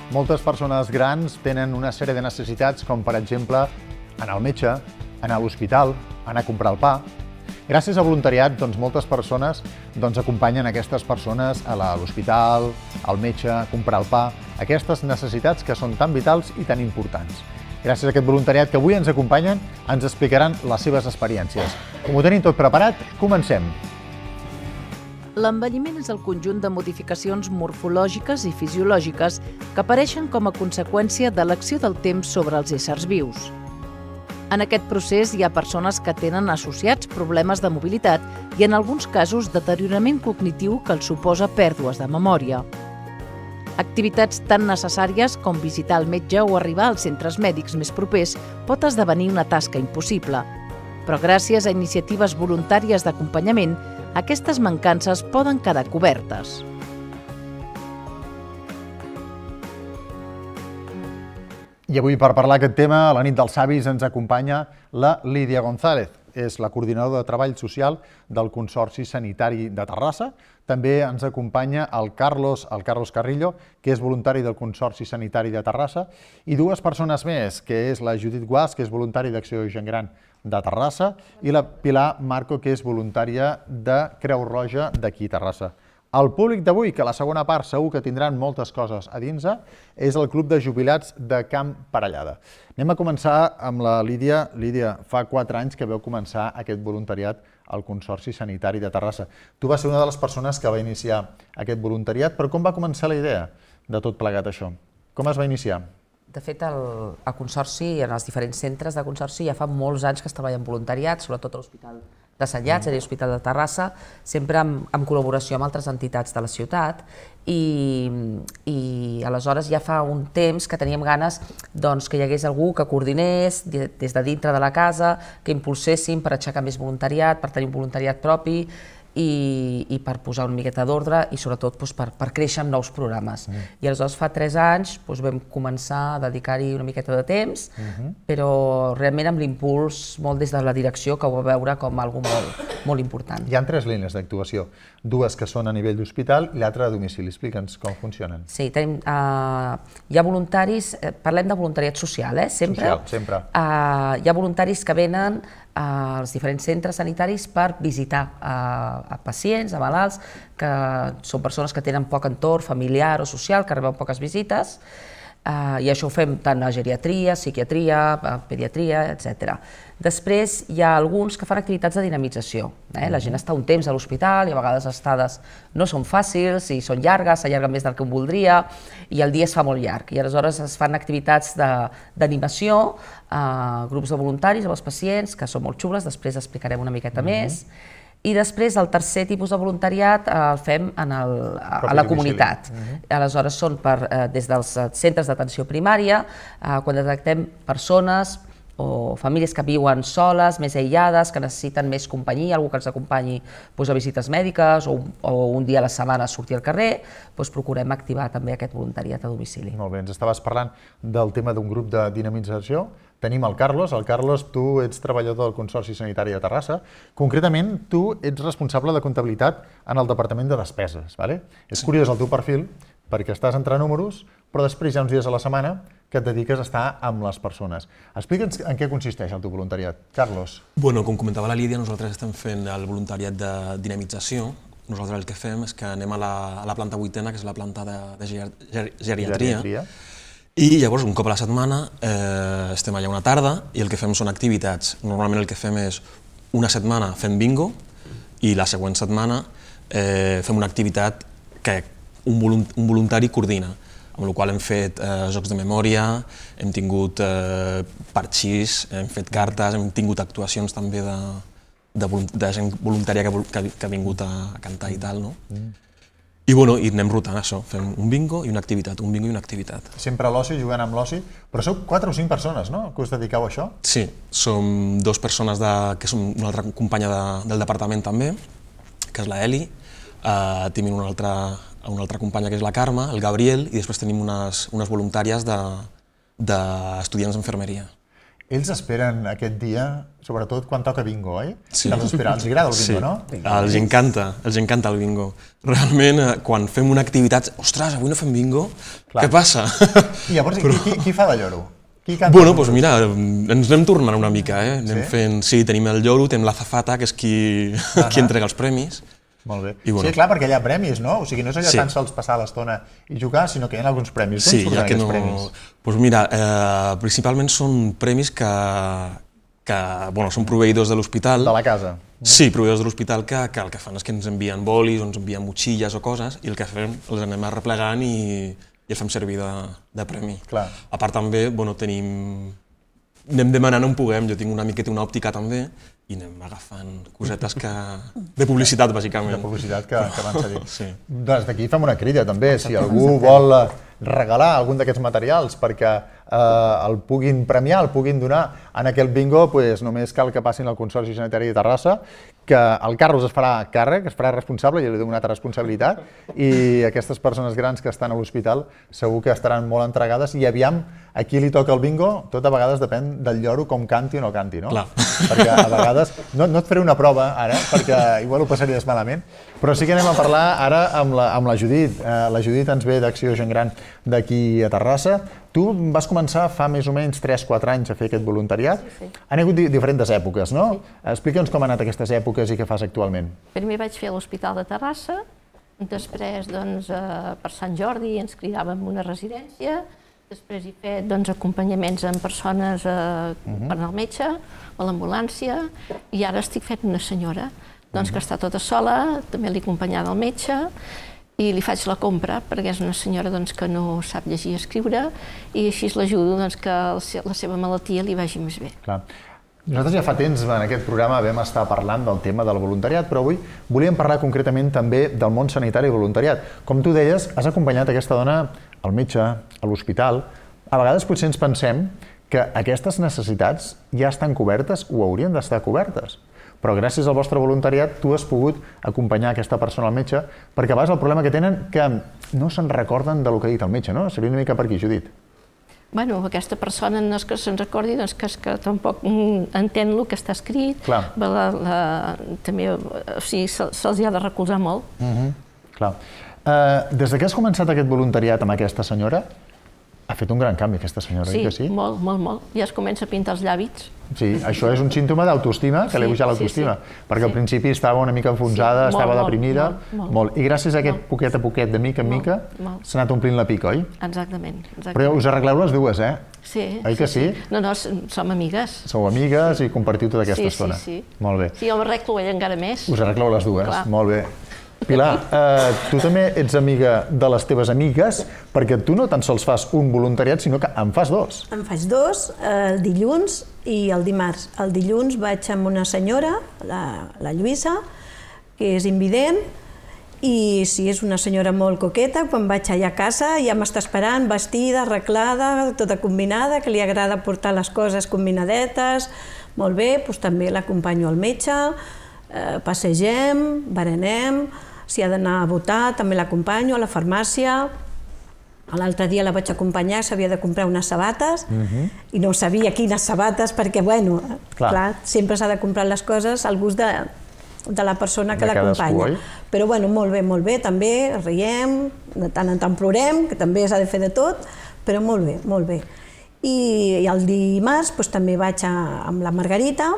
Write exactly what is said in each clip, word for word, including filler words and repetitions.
Moltes persones grans tenen una sèrie de necessitats, com per exemple anar al metge, anar a l'hospital, anar a comprar el pa. Gràcies al voluntariat, doncs, moltes persones doncs, acompanyen aquestes persones a l'hospital, al metge, a comprar el pa, aquestes necessitats que són tan vitals i tan importants. Gràcies a aquest voluntariat que avui ens acompanyen, ens explicaran les seves experiències. Com ho tenim tot preparat, comencem! L'envelliment és el conjunt de modificacions morfològiques i fisiològiques que apareixen com a conseqüència de l'acció del temps sobre els éssers vius. En aquest procés hi ha persones que tenen associats problemes de mobilitat i en alguns casos deteriorament cognitiu que els suposa pèrdues de memòria. Activitats tan necessàries com visitar el metge o arribar als centres mèdics més propers pot esdevenir una tasca impossible. Però gràcies a iniciatives voluntàries d'acompanyament, aquestes mancances poden quedar cobertes. I avui, per parlar d'aquest tema, a la nit dels savis ens acompanya la Lídia González. És la coordinadora de Treball Social del Consorci Sanitari de Terrassa. També ens acompanya el Carlos, el Carlos Carrillo, que és voluntari del Consorci Sanitari de Terrassa, i dues persones més, que és la Judit Guas, que és voluntari d'Acció Gent Gran de Terrassa, i la Pilar Marco, que és voluntària de Creu Roja d'aquí a Terrassa. El públic d'avui, que a la segona part segur que tindran moltes coses a dins, és el Club de Jubilats de Camp Parellada. Anem a començar amb la Lídia. Lídia, fa quatre anys que vau començar aquest voluntariat al Consorci Sanitari de Terrassa. Tu vas ser una de les persones que va iniciar aquest voluntariat, però com va començar la idea de tot plegat això? Com es va iniciar? De fet, el, el Consorci, en els diferents centres de Consorci, ja fa molts anys que es treballa en voluntariat, sobretot a l'Hospital de Sant Llàtzer i l'Hospital de Terrassa, sempre en, en col·laboració amb altres entitats de la ciutat, i, i aleshores ja fa un temps que teníem ganes doncs, que hi hagués algú que coordinés des de dintre de la casa, que impulséssim per aixecar més voluntariat, per tenir un voluntariat propi, i, i per posar una miqueta d'ordre i sobretot doncs, per, per créixer amb nous programes. Mm. I aleshores fa tres anys doncs, vam començar a dedicar-hi una miqueta de temps, mm-hmm. però realment amb l'impuls molt des de la direcció, que ho va veure com algo molt, molt important. Hi ha tres línies d'actuació, dues que són a nivell d'hospital i l'altra a domicili. Explica'ns com funcionen. Sí, tenim, uh, hi ha voluntaris, eh, parlem de voluntariat social, eh, sempre. Social, sempre. Uh, hi ha voluntaris que venen als diferents centres sanitaris per visitar a pacients, a malalts, que són persones que tenen poc entorn familiar o social, que reben poques visites, i això ho fem tant a geriatria, psiquiatria, pediatria, etcètera. Després hi ha alguns que fan activitats de dinamització. La gent està un temps a l'hospital i a vegades les estades no són fàcils i són llargues, s'allarguen més del que un voldria i el dia es fa molt llarg. I aleshores es fan activitats d'animació, grups de voluntaris amb els pacients, que són molt xules, després explicarem una miqueta més. I després el tercer tipus de voluntariat el fem a la comunitat. Aleshores són des dels centres d'atenció primària, quan detectem persones o famílies que viuen soles, més aïllades, que necessiten més companyia, algú que ens acompanyi a visites mèdiques o un dia a la setmana a sortir al carrer, procurem activar també aquest voluntariat a domicili. Molt bé, ens estaves parlant del tema d'un grup de dinamització. Tenim el Carlos. El Carlos, tu ets treballador del Consorci Sanitari de Terrassa. Concretament, tu ets responsable de comptabilitat en el Departament de Despeses. És curiós el teu perfil, perquè estàs entre números, però després hi ha uns dies a la setmana que et dediques a estar amb les persones. Explica'ns en què consisteix el teu voluntariat. Carlos. Bueno, com comentava la Lídia, nosaltres estem fent el voluntariat de dinamització. Nosaltres el que fem és que anem a la planta vuitena, que és la planta de geriatria, i llavors, un cop a la setmana, estem allà una tarda i el que fem són activitats. Normalment el que fem és una setmana fem bingo i la següent setmana fem una activitat que un voluntari coordina, amb la qual hem fet jocs de memòria, hem tingut parxís, hem fet cartes, hem tingut actuacions també de gent voluntària que ha vingut a cantar i tal, no? I bueno, i anem rotant això, fem un bingo i una activitat, un bingo i una activitat. Sempre a l'oci, jugant amb l'oci, però sou quatre o cinc persones, no?, que us dediqueu a això? Sí, som dues persones que som una altra companya del departament també, que és la Eli, tenim una altra companya que és la Carme, el Gabriel, i després tenim unes voluntàries d'estudiants d'enfermeria. Ells esperen aquest dia, sobretot quan toca bingo, oi? Sí. Els esperen, els agrada el bingo, no? Sí, els encanta, els encanta el bingo. Realment, quan fem una activitat, ostres, avui no fem bingo, què passa? I llavors, qui fa de lloro? Bueno, doncs mira, ens anem tornant una mica, eh? Anem fent, sí, tenim el lloro, tenim l'azafata, que és qui entrega els premis. Molt bé. Sí, clar, perquè hi ha premis, no? O sigui, no és allò tan sols passar l'estona i jugar, sinó que hi ha alguns premis. Sí, ja que no... Doncs mira, principalment són premis que, bueno, són proveïdors de l'hospital. De la casa. Sí, proveïdors de l'hospital que el que fan és que ens envien bolis, ens envien motxilles o coses, i el que fem, els anem arreplegant i i el fem servir de premi. A part també, bueno, tenim... anem demanant on puguem, jo tinc un amic que té una òptica també, i anem agafant cosetes que... de publicitat, bàsicament. De publicitat que van cedir. Doncs d'aquí fem una crida també, si algú vol regalar algun d'aquests materials perquè el puguin premiar, el puguin donar en aquest bingo, només cal que passin al Consorci Sanitari de Terrassa, que el Carlos es farà càrrec, es farà responsable, jo li dono una altra responsabilitat, i aquestes persones grans que estan a l'hospital segur que estaran molt entregades, i aviam, a qui li toca el bingo, tot a vegades depèn del lloro com canti o no canti, no? Perquè a vegades, no et faré una prova ara, perquè igual ho passaries malament, però sí que anem a parlar ara amb la Judit. La Judit ens ve d'Acció Gent Gran d'aquí a Terrassa. Tu vas començar fa més o menys tres quatre anys a fer aquest voluntariat. Han hagut diferents èpoques, no? Explica'ns com han anat aquestes èpoques i què fas actualment. Primer vaig fer a l'Hospital de Terrassa, després per Sant Jordi ens cridàvem a una residència, després he fet acompanyaments amb persones per anar al metge, a l'ambulància, i ara estic fent una senyora que està tota sola, també l'he acompanyada al metge, i li faig la compra, perquè és una senyora que no sap llegir i escriure, i així l'ajudo que la seva malaltia li vagi més bé. Nosaltres ja fa temps en aquest programa vam estar parlant del tema del voluntariat, però avui volíem parlar concretament també del món sanitari i voluntariat. Com tu deies, has acompanyat aquesta dona al metge, a l'hospital. A vegades potser ens pensem que aquestes necessitats ja estan cobertes o haurien d'estar cobertes. Però gràcies al vostre voluntariat tu has pogut acompanyar aquesta persona al metge, perquè a vegades el problema que tenen que no se'n recorden del que ha dit el metge, no? Seria una mica per aquí, Judit. Bueno, aquesta persona no és que se'n recordi, doncs que és que tampoc entén el que està escrit. També, o sigui, se'ls ha de recolzar molt. Clar. Des que has començat aquest voluntariat amb aquesta senyora, ha fet un gran canvi aquesta senyora, oi que sí? Sí, molt, molt, molt. Ja es comença a pintar els llavis. Sí, això és un símptoma d'autoestima, que li ha pujat l'autoestima, perquè al principi estava una mica enfonsada, estava deprimida, molt. I gràcies a aquest poquet a poquet, de mica en mica, s'ha anat omplint la pica, oi? Exactament. Però us arregleu les dues, eh? Sí. Oi que sí? No, no, som amigues. Sou amigues i compartiu tota aquesta estona. Sí, sí, sí. Molt bé. Sí, jo m'arreglo ella encara més. Us arregleu les dues, molt bé. Pilar, tu també ets amiga de les teves amigues, perquè tu no tan sols fas un voluntariat, sinó que en fas dos. En faig dos, el dilluns i el dimarts. El dilluns vaig amb una senyora, la Lluïsa, que és invident, i sí, és una senyora molt coqueta. Quan vaig allà a casa ja m'està esperant, vestida, arreglada, tota combinada, que li agrada portar les coses combinadetes. Molt bé, doncs també l'acompanyo al metge, passegem, berenem. Si ha d'anar a votar, també l'acompanyo a la farmàcia. L'altre dia la vaig acompanyar, s'havia de comprar unes sabates i no sabia quines sabates, perquè, bueno, clar, sempre s'ha de comprar les coses al gust de la persona que l'acompanya. Però, bueno, molt bé, molt bé, també riem, de tant en tant plorem, que també s'ha de fer de tot, però molt bé, molt bé. I el dimarts també vaig amb la Margarita,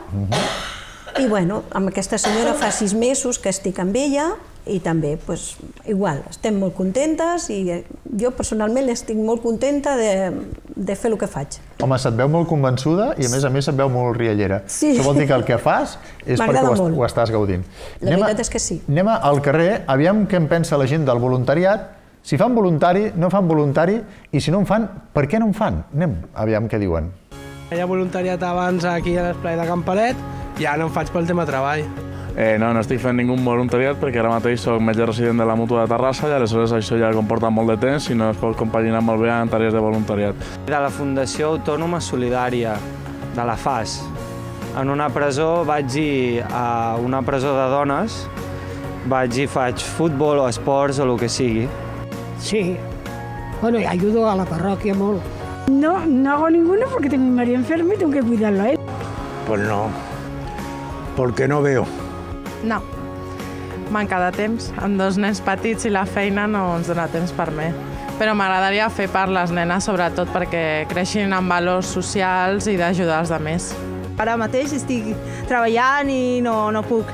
i, bueno, amb aquesta senyora fa sis mesos que estic amb ella, i també, doncs, igual, estem molt contentes i jo personalment estic molt contenta de fer el que faig. Home, se't veu molt convençuda i a més a més se't veu molt riallera. Això vol dir que el que fas és perquè ho estàs gaudint. La veritat és que sí. Anem al carrer, aviam què en pensa la gent del voluntariat. Si fan voluntari, no fan voluntari, i si no en fan, per què no en fan? Anem, aviam què diuen. Hi ha voluntariat abans aquí a l'esplai de Campalet i ara no en faig pel tema treball. No, no estic fent ningú voluntariat perquè ara mateix soc metge resident de la Mútua de Terrassa i aleshores això ja comporta molt de temps i no es pot compaginar molt bé amb tarees de voluntariat. De la Fundació Autònoma Solidària, de la F A S. En una presó vaig ir a una presó de dones, vaig i faig futbol o esports o el que sigui. Sí, bueno, i ajudo a la parròquia molt. No, no hago ninguno porque tengo a mi marido enfermo y tengo que cuidarlo a él. Pues no, porque no veo. No, manca de temps. Amb dos nens petits i la feina no ens dona temps per mi. Però m'agradaria fer per les nenes, sobretot perquè creixin amb valors socials i d'ajudar els altres. Ara mateix estic treballant i no, no puc.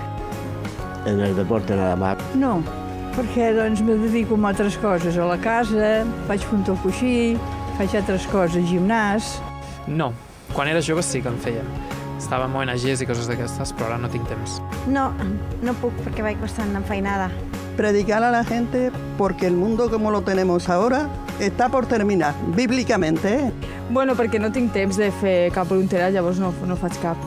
En el deporte nada más. No, perquè doncs me dedico a altres coses, a la casa, faig punta al coixí, faig altres coses, gimnàs. No, quan era jove sí que en feia. Estava amb O N Ges i coses d'aquestes, però ara no tinc temps. No, no puc perquè vaig bastant enfeinada. Predicar a la gente porque el mundo como lo tenemos ahora está por terminar, bíblicamente, ¿eh? Bueno, perquè no tinc temps de fer cap voluntariat, llavors no, no faig cap.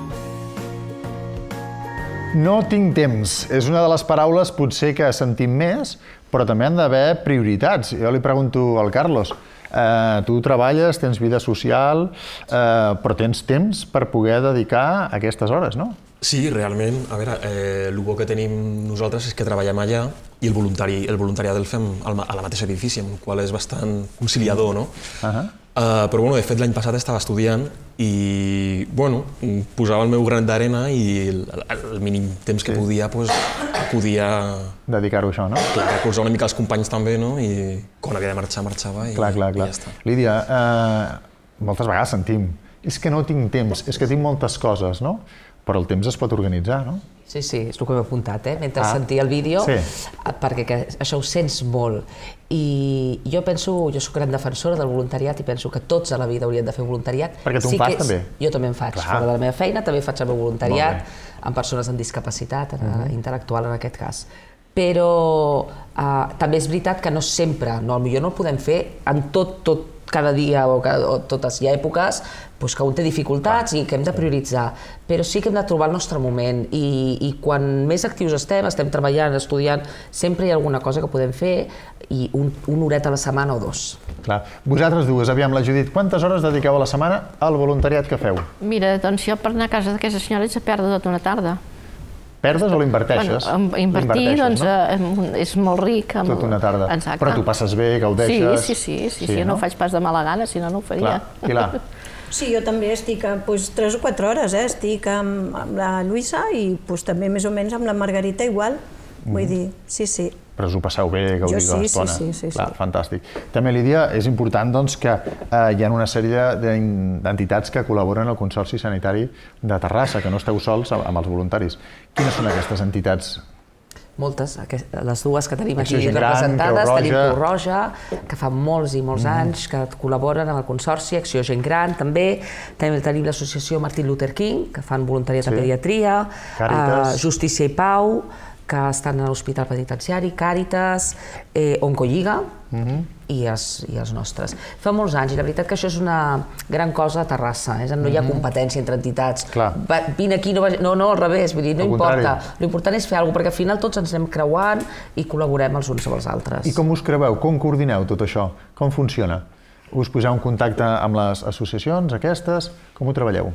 No tinc temps. És una de les paraules potser que sentim més, però també han d'haver prioritats. Jo li pregunto al Carlos, eh, tu treballes, tens vida social, eh, però tens temps per poder dedicar aquestes hores, no? Sí, realment. A veure, eh, el bo que tenim nosaltres és que treballem allà i el, voluntari, el voluntariat el fem a la mateixa edifici, amb el qual és bastant conciliador, no? Uh -huh. Uh, però bueno, de fet l'any passat estava estudiant i bueno, posava el meu gran d'arena i el, el mínim temps que sí. podia pues, podia dedicar-ho a això, no? Clar, recolzar una mica els companys també, no? I quan havia de marxar, marxava i, clar, clar, clar. i ja està. Lídia, eh, moltes vegades sentim és que no tinc temps, és que tinc moltes coses, no? Però el temps es pot organitzar, no? Sí, sí, és el que m'he apuntat, eh? Mentre ah. sentia el vídeo, sí. perquè que això ho sents molt. I jo penso, jo soc gran defensora del voluntariat i penso que tots a la vida haurien de fer voluntariat. Perquè tu sí en fas, és, també? Jo també en faig. Clar. Fora de la meva feina també faig el meu voluntariat amb persones amb discapacitat, uh -huh. intel·lectual en aquest cas. Però eh, també és veritat que no sempre, no, potser no el podem fer en tot, tot, cada dia o, cada, o totes hi ha èpoques doncs que un té dificultats i que hem de prioritzar, però sí que hem de trobar el nostre moment i, i quan més actius estem, estem treballant, estudiant, sempre hi ha alguna cosa que podem fer i un, una horeta a la setmana o dos. Clar. Vosaltres dues, aviam, la Judit, quantes hores dediqueu a la setmana al voluntariat que feu? Mira, doncs jo per anar a casa d'aquesta senyora haig de perdre tota una tarda. Perdes o l'inverteixes? Bueno, invertir doncs, no? és molt ric. Amb... Tota una tarda. Exacte. Però tu passes bé, gaudeixes... Sí, sí, sí, sí, sí, sí no? no ho faig pas de mala gana, si no, no ho faria. Clar. Sí, jo també estic pues, tres o quatre hores, eh? Estic amb, amb la Lluïsa i pues, també més o menys amb la Margarita igual. Mm. Vull dir, sí, sí. Però us ho passeu bé, gaudiu sí, de l'estona. Sí, sí, sí, Clar, sí. Fantàstic. També, Lídia, és important doncs, que eh, hi ha una sèrie d'entitats que col·laboren al Consorci Sanitari de Terrassa, que no esteu sols amb els voluntaris. Quines són aquestes entitats? Moltes, les dues que tenim aquí representades, tenim Creu Roja, que fa molts i molts anys que col·laboren amb el Consorci, Acció Gent Gran també, també tenim l'associació Martin Luther King, que fan voluntariat de pediatria, Justícia i Pau, que estan a l'Hospital Penitenciari, Càritas, Oncolliga i els nostres. Fa molts anys, i la veritat que això és una gran cosa a Terrassa, no hi ha competència entre entitats. Vine aquí, no, no, al revés, vull dir, no importa. L'important és fer alguna cosa, perquè al final tots ens anem creuant i col·laborem els uns amb els altres. I com us creueu? Com coordineu tot això? Com funciona? Us poseu en contacte amb les associacions aquestes? Com ho treballeu?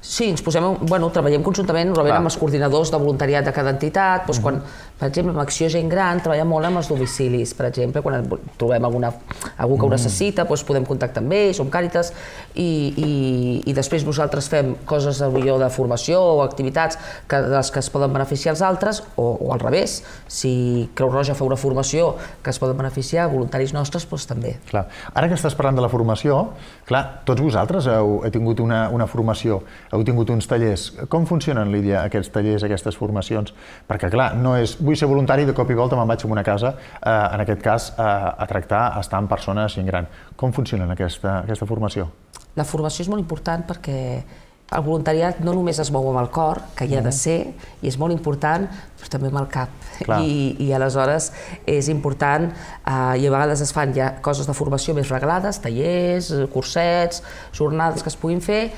Sí, ens posem, bueno, treballem conjuntament amb els coordinadors de voluntariat de cada entitat. Doncs quan, per exemple, amb Acció Gent Gran treballem molt amb els domicilis, per exemple, quan trobem alguna, algú que ho necessita, doncs podem contactar amb ells, som Càritas, i, i, i després nosaltres fem coses millor de formació o activitats que, de les que es poden beneficiar els altres, o, o al revés, si Creu Roja fa una formació que es poden beneficiar, voluntaris nostres, doncs també. Clar. Ara que estàs parlant de la formació, clar, tots vosaltres heu, heu tingut una, una formació, heu tingut uns tallers. Com funcionen, Lídia, aquests tallers, aquestes formacions? Perquè, clar, no és vull ser voluntari i de cop i volta me'n vaig a una casa, eh, en aquest cas, eh, a tractar, a estar amb persones gent gran. Com funciona aquesta, aquesta formació? La formació és molt important perquè el voluntariat no només es mou amb el cor, que hi ha de ser, i és molt important, però també amb el cap. I, i aleshores és important, eh, i a vegades es fan ja coses de formació més reglades, tallers, cursets, jornades que es puguin fer,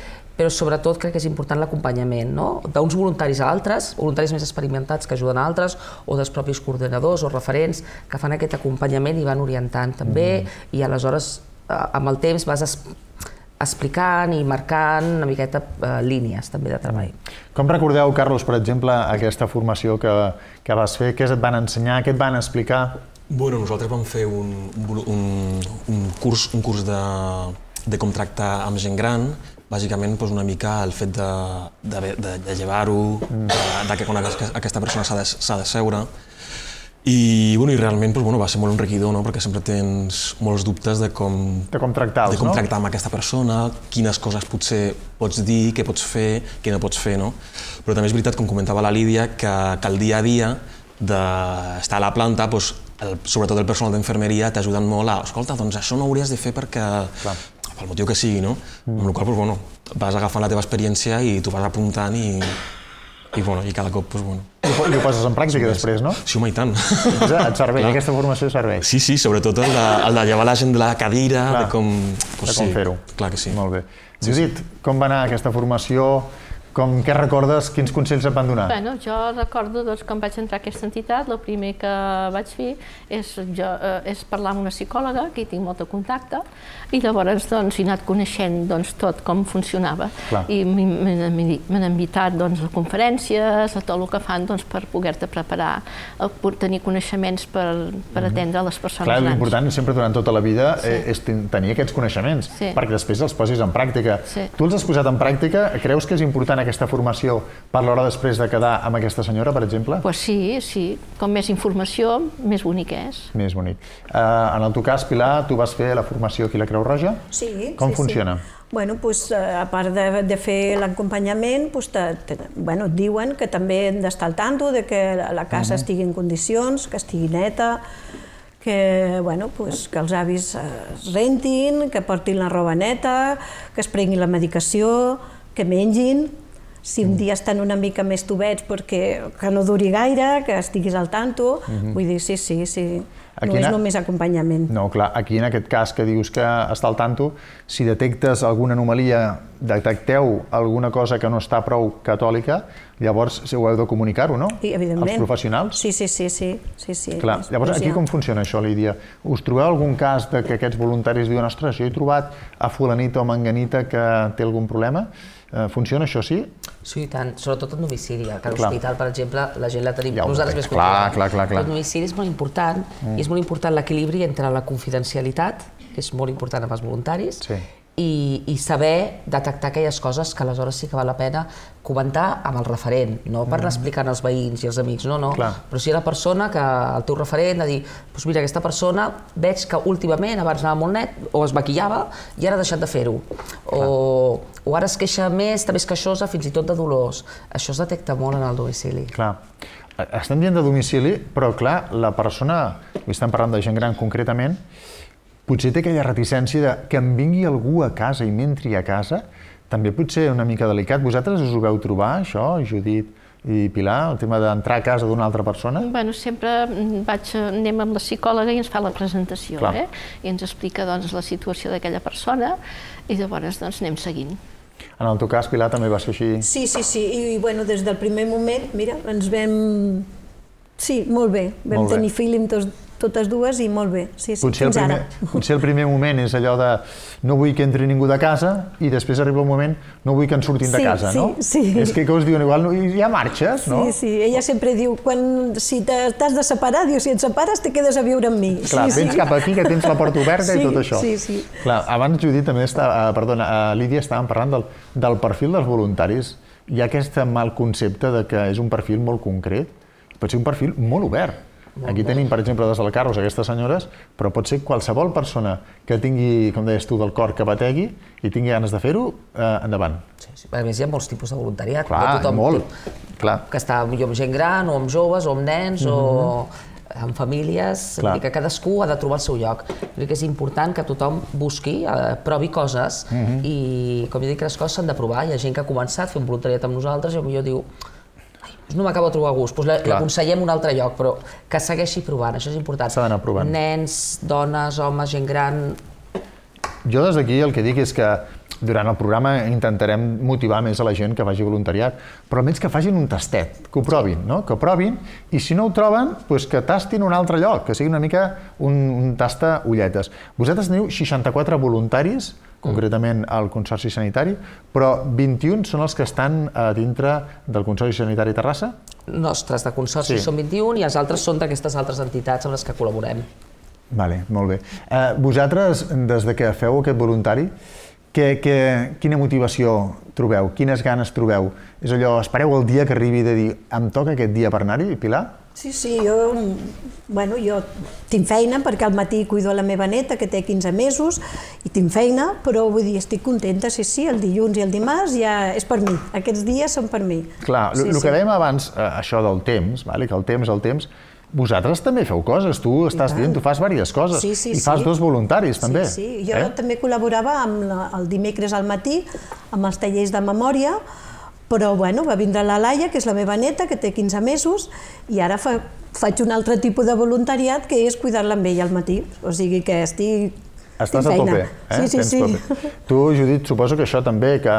però sobretot crec que és important l'acompanyament, no? D'uns voluntaris a altres, voluntaris més experimentats que ajuden a altres, o dels propis coordinadors o referents que fan aquest acompanyament i van orientant també, mm. i aleshores amb el temps vas explicant i marcant una miqueta eh, línies també de treball. Com recordeu, Carlos, per exemple, aquesta formació que, que vas fer? Què et van ensenyar? Què et van explicar? Bueno, nosaltres vam fer un, un, un, curs, un curs de de com tractar amb gent gran, bàsicament una mica el fet de llevar-ho, que quan aquesta persona s'ha de seure. I realment va ser molt enriquidor, perquè sempre tens molts dubtes de com tractar amb aquesta persona, quines coses potser pots dir, què pots fer, què no pots fer. Però també és veritat, com comentava la Lídia, que el dia a dia d'estar a la planta, sobretot el personal d'infermeria, t'ajuden molt a, escolta, doncs això no ho hauries de fer perquè, pel motiu que sigui, no? Amb la qual cosa vas agafant la teva experiència i t'ho vas apuntant i cada cop, bueno... I ho poses en pràctica després, no? Sí, home, i tant. Et serveix, aquesta formació serveix. Sí, sí, sobretot el de llevar la gent de la cadira, de com... De com fer-ho. Clar que sí. Molt bé. Judit, com va anar aquesta formació? Què recordes? Quins consells et van donar? Bé, jo recordo, quan vaig entrar a aquesta entitat, el primer que vaig fer és parlar amb una psicòloga, que hi tinc molt de contacte, i llavors he anat coneixent tot com funcionava. I m'han invitat a conferències, a tot el que fan per poder-te preparar, per tenir coneixements per atendre les persones grans. Clar, l'important sempre durant tota la vida és tenir aquests coneixements, perquè després els posis en pràctica. Tu els has posat en pràctica? Creus que és important aquesta formació per l'hora després de quedar amb aquesta senyora, per exemple? Doncs sí, sí. Com més informació, més bonic és. Més bonic. En el teu cas, Pilar, tu vas fer la formació aquí a la Creu Roja? Sí, sí, sí. Com funciona? Bueno, doncs, a part de fer l'acompanyament, et diuen que també hem d'estar al tanto de que la casa estigui en condicions, que estigui neta, que els avis es rentin, que portin la roba neta, que es prenguin la medicació, que mengin. Si un dia estan una mica més tubets, que no duri gaire, que estiguis al tanto. Vull dir, sí, sí, sí. No és només acompanyament. No, clar, aquí en aquest cas que dius que està al tanto, si detectes alguna anomalia, detecteu alguna cosa que no està prou catòlica, llavors ho heu de comunicar-ho, no? Evidentment. Els professionals? Sí, sí, sí. Clar, llavors aquí com funciona això, Lídia? Us trobeu algun cas que aquests voluntaris diuen, ostres, jo he trobat a fulanita o manganita que té algun problema? Funciona això, sí? Sí, i tant, sobretot en domicili. A l'hospital, per exemple, la gent la tenim nosaltres més controlada. Clar, clar, clar. El domicili és molt important i és molt important l'equilibri entre la confidencialitat, que és molt important amb els voluntaris, i saber detectar aquelles coses que aleshores sí que val la pena comentar amb el referent, no per anar explicant als veïns i als amics, no, no. Però si hi ha la persona que el teu referent ha dit, doncs mira, aquesta persona veig que últimament abans anava molt net o es maquillava i ara ha deixat de fer-ho. O ara es queixa més, està més queixosa, fins i tot de dolors. Això es detecta molt en el domicili. Clar. Estem dient de domicili, però clar, la persona, estem parlant de gent gran concretament, potser té aquella reticència de que em vingui algú a casa i m'entri a casa, també pot ser una mica delicat. Vosaltres us ho veu trobar, això, Judit i Pilar, el tema d'entrar a casa d'una altra persona? Bueno, sempre anem amb la psicòloga i ens fa la presentació, i ens explica la situació d'aquella persona i llavors anem seguint. En el teu cas, Pilar, també va ser així? Sí, sí, sí, i des del primer moment, mira, ens vam... Sí, molt bé, vam tenir feeling totes dues i molt bé, sí, sí, fins ara. Potser el primer moment és allò de no vull que entri ningú de casa i després arriba el moment no vull que en surtin de casa, no? Sí, sí. És que us diuen igual, ja marxes, no? Sí, sí, ella sempre diu, si t'has de separar, diu, si et separes te quedes a viure amb mi. Clar, vens cap aquí que tens la porta oberta i tot això. Sí, sí, sí. Clar, abans Judit també estava, perdona, Lídia estàvem parlant del perfil dels voluntaris. Hi ha aquest mal concepte de que és un perfil molt concret, pot ser un perfil molt obert. Aquí tenim, per exemple, des del Carros aquestes senyores, però pot ser qualsevol persona que tingui, com deies tu, del cor que bategui i tingui ganes de fer-ho, endavant. A més, hi ha molts tipus de voluntariat. Clar, molt. Que està amb gent gran, o amb joves, o amb nens, o amb famílies. Que cadascú ha de trobar el seu lloc. Crec que és important que tothom busqui, provi coses, i, com jo dic, les coses s'han de provar. Hi ha gent que ha començat a fer un voluntariat amb nosaltres i potser diu no m'acabo de trobar a gust, doncs l'aconsellem un altre lloc, però que segueixi provant, això és important. S'ha d'anar provant. Nens, dones, homes, gent gran... Jo des d'aquí el que dic és que durant el programa intentarem motivar més a la gent que faci voluntariat, però almenys que facin un tastet, que ho provin, no? Que ho provin, i si no ho troben, doncs que tastin un altre lloc, que sigui una mica un tasta ulletes. Vosaltres teniu seixanta-quatre voluntaris, concretament al Consorci Sanitari, però vint-i-un són els que estan a dintre del Consorci Sanitari Terrassa? Nostres, de Consorci són vint-i-un i els altres són d'aquestes altres entitats amb les que col·laborem. Vale, molt bé. Vosaltres, des de que feu aquest voluntari, quina motivació trobeu? Quines ganes trobeu? És allò, espereu el dia que arribi de dir em toca aquest dia per anar-hi, Pilar? Sí, sí, jo, bueno, jo tinc feina perquè al matí cuido la meva neta, que té quinze mesos, i tinc feina, però vull dir, estic contenta, sí, sí, el dilluns i el dimarts ja és per mi, aquests dies són per mi. Clar, el que dèiem abans, això del temps, que el temps, el temps, vosaltres també feu coses, tu estàs dient, tu fas diverses coses, i fas dos voluntaris també. Sí, sí, jo també col·laborava el dimecres al matí amb els tallers de memòria, però bueno, va vindre la Laia, que és la meva neta, que té quinze mesos, i ara faig un altre tipus de voluntariat, que és cuidar-la amb ella al matí. O sigui que estic... Estàs a tope, eh? Sí, sí, sí. Tu, Judit, suposo que això també, que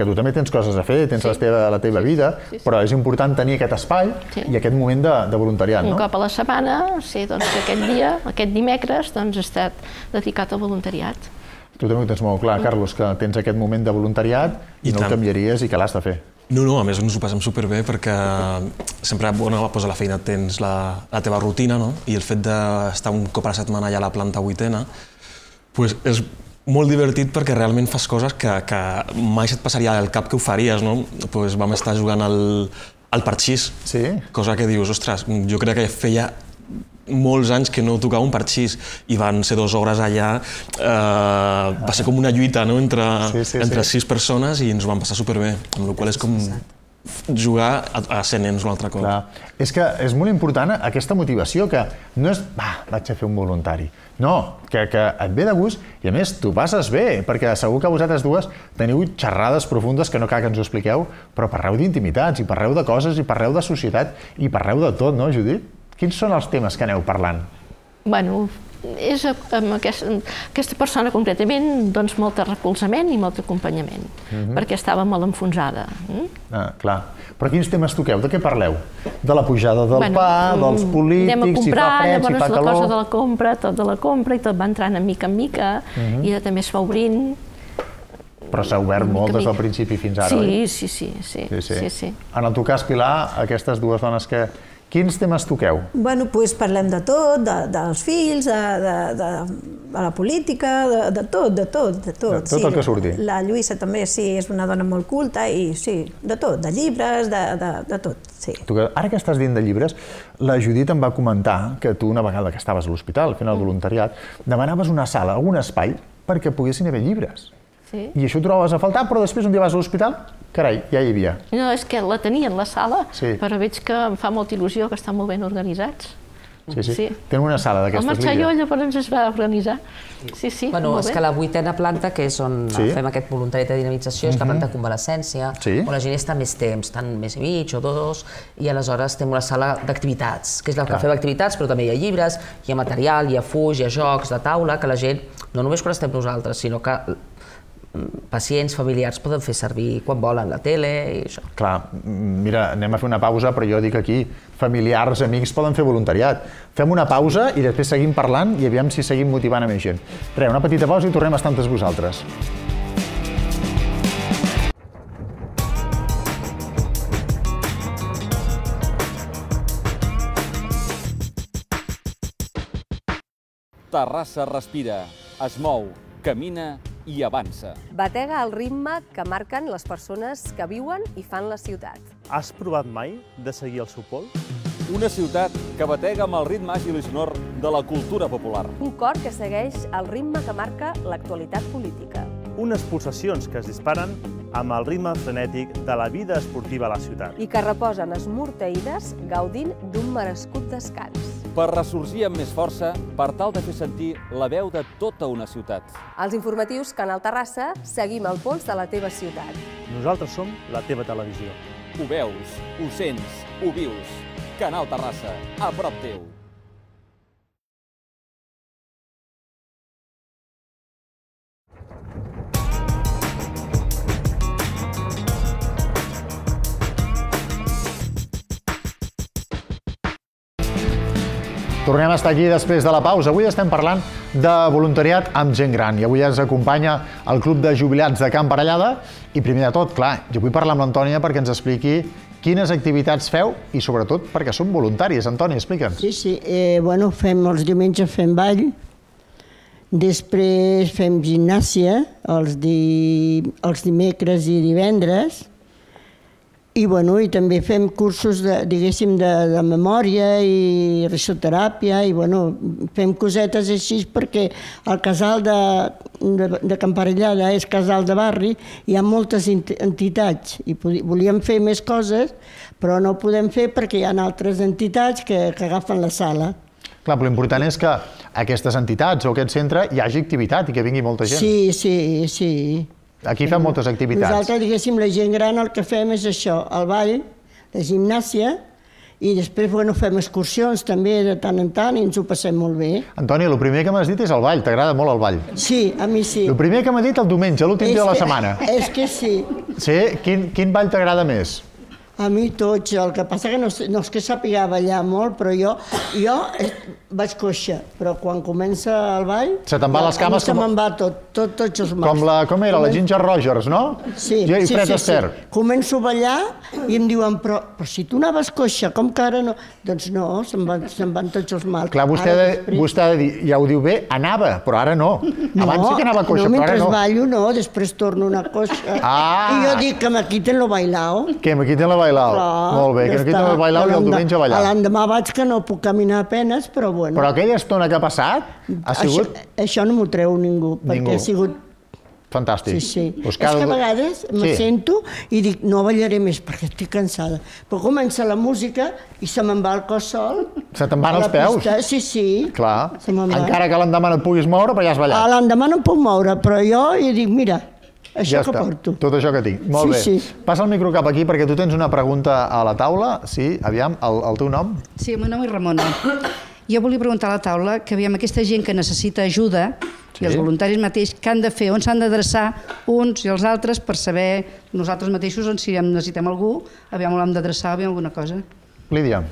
tu també tens coses a fer, tens la teva vida, però és important tenir aquest espai i aquest moment de voluntariat, no? Un cop a la setmana, sé que aquest dia, aquest dimecres, doncs he estat dedicat al voluntariat. Tu també ho tens molt clar, Carlos, que tens aquest moment de voluntariat i no el canviaries i que l'has de fer. No, no, a més ens ho passem superbé perquè sempre a la feina tens la teva rutina i el fet d'estar un cop a la setmana allà a la planta vuitena és molt divertit perquè realment fas coses que mai se't passaria al cap que ho faries. Vam estar jugant al parxís, cosa que dius, ostres, jo crec que feia molts anys que no tocava un parxís i van ser dues hores allà, va ser com una lluita entre sis persones i ens ho vam passar superbé, amb la qual cosa és com jugar a ser nens un altre cop. És que és molt important aquesta motivació, que no és, va, vaig a fer un voluntari. No, que et ve de gust i a més t'ho passes bé, perquè segur que vosaltres dues teniu xerrades profundes que no cal que ens ho expliqueu, però parleu d'intimitats i parleu de coses i parleu de societat i parleu de tot, no, Judit? Quins són els temes que aneu parlant? Bueno, és amb aquesta persona concretament doncs molt de recolzament i molt d'acompanyament, perquè estava molt enfonsada. Clar, però quins temes toqueu? De què parleu? De la pujada del pa, dels polítics, si fa fred, si fa calor... Anem a comprar, llavors la cosa de la compra, tot de la compra, i tot va entrant de mica en mica, i també es va obrint. Però s'ha obert molt des del principi fins ara, oi? Sí, sí, sí. En el teu cas, Pilar, aquestes dues dones que... Quins temes toqueu? Bueno, doncs parlem de tot, dels fills, de la política, de tot, de tot. De tot el que surti. La Lluïsa també, sí, és una dona molt culta i sí, de tot, de llibres, de tot, sí. Ara que estàs dient de llibres, la Judit em va comentar que tu, una vegada que estaves a l'hospital fent el voluntariat, demanaves una sala, algun espai, perquè poguessin haver llibres. I això ho trobaves a faltar, però després un dia vas a l'hospital, carai, ja hi havia. No, és que la tenien la sala, però veig que em fa molta il·lusió que estan molt ben organitzats. Sí, sí. Tenen una sala d'aquestes, Lídia. El Marxalló llavors es va organitzar. Sí, sí, molt bé. Bueno, és que la vuitena planta, que és on fem aquest voluntariat de dinamització, és la planta de convalescència, on la gent està més temps, estan més i mig o dos, i aleshores tenim una sala d'activitats, que és la que fem activitats, però també hi ha llibres, hi ha material, hi ha fuix, hi ha jocs de taula, que la gent, no només quan estem nosaltres, sinó que pacients, familiars poden fer servir quan volen la tele i això. Clar, mira, anem a fer una pausa, però jo dic aquí, familiars, amics poden fer voluntariat. Fem una pausa i després seguim parlant i aviam si seguim motivant a més gent. Res, una petita pausa i tornem a estar amb tots vosaltres. Terrassa respira, es mou, camina i avança. Batega el ritme que marquen les persones que viuen i fan la ciutat. Has provat mai de seguir el seu pols? Una ciutat que batega amb el ritme àgil i sonor de la cultura popular. Un cor que segueix el ritme que marca l'actualitat política. Unes pulsacions que es disparen amb el ritme frenètic de la vida esportiva a la ciutat. I que reposen esmorteïdes gaudint d'un merescut descans. Per ressorgir amb més força, per tal de fer sentir la veu de tota una ciutat. Als informatius Canal Terrassa seguim el pols de la teva ciutat. Nosaltres som la teva televisió. Ho veus, ho sents, ho vius. Canal Terrassa, a prop teu. Tornem a estar aquí després de la pausa. Avui estem parlant de voluntariat amb gent gran i avui ens acompanya el Club de Jubilats de Can Parellada i primer de tot, clar, jo vull parlar amb l'Antònia perquè ens expliqui Quines activitats feu i, sobretot, perquè són voluntaris? Antoni, explica'ns. Sí, sí. Bueno, fem els diumenges fem ball, després fem gimnàsia els dimecres i divendres, i també fem cursos, diguéssim, de memòria i risoteràpia, i fem cosetes així perquè el casal de Camparellada és casal de barri, hi ha moltes entitats i volíem fer més coses, però no ho podem fer perquè hi ha altres entitats que agafen la sala. Clar, però l'important és que aquestes entitats o aquest centre hi hagi activitat i que vingui molta gent. Sí, sí, sí. Aquí fem moltes activitats. Nosaltres, diguéssim, la gent gran el que fem és això, el ball, la gimnàsia, i després fem excursions també de tant en tant i ens ho passem molt bé. Antoni, el primer que m'has dit és el ball, t'agrada molt el ball? Sí, a mi sí. El primer que m'ha dit el diumenge, l'últim dia de la setmana. És que sí. Sí? Quin ball t'agrada més? A mi tots, el que passa que no és que sàpiga ballar molt, però jo vaig coixa, però quan comença el ball... Se te'n va les cames com... Se me'n va tot, tots els mals. Com era, la Ginger Rogers, no? Sí, sí, sí. Començo a ballar i em diuen, però si tu anaves coixa, com que ara no? Doncs no, se'n van tots els mals. Clar, vostè ha de dir, ja ho diu bé, anava, però ara no. Abans sí que anava coixa, però ara no. No, mentre ballo no, després torno una coixa. I jo dic que me quiten lo bailao. Que me quiten lo bailao. Molt bé, que no quiten el bailau i el diumenge a ballar. L'endemà vaig que no puc caminar a penes, però bueno. Però aquella estona que ha passat ha sigut... Això no m'ho treu ningú, perquè ha sigut... Fantàstic. Sí, sí. És que a vegades me sento i dic, no ballaré més perquè estic cansada. Però comença la música i se me'n va el cos sol. Se te'n van els peus? Sí, sí. Clar. Encara que l'endemà no et puguis moure, però ja has ballat. L'endemà no em puc moure, però jo dic, mira, això que porto. Tot això que tinc. Molt bé. Passa el micro cap aquí perquè tu tens una pregunta a la taula. Sí, aviam, el teu nom? Sí, el meu nom és Ramona. Jo volia preguntar a la taula que aviam aquesta gent que necessita ajuda i els voluntaris mateix, què han de fer, on s'han d'adreçar uns i els altres per saber nosaltres mateixos on si necessitem algú, aviam on l'hem d'adreçar, aviam alguna cosa. Lídia,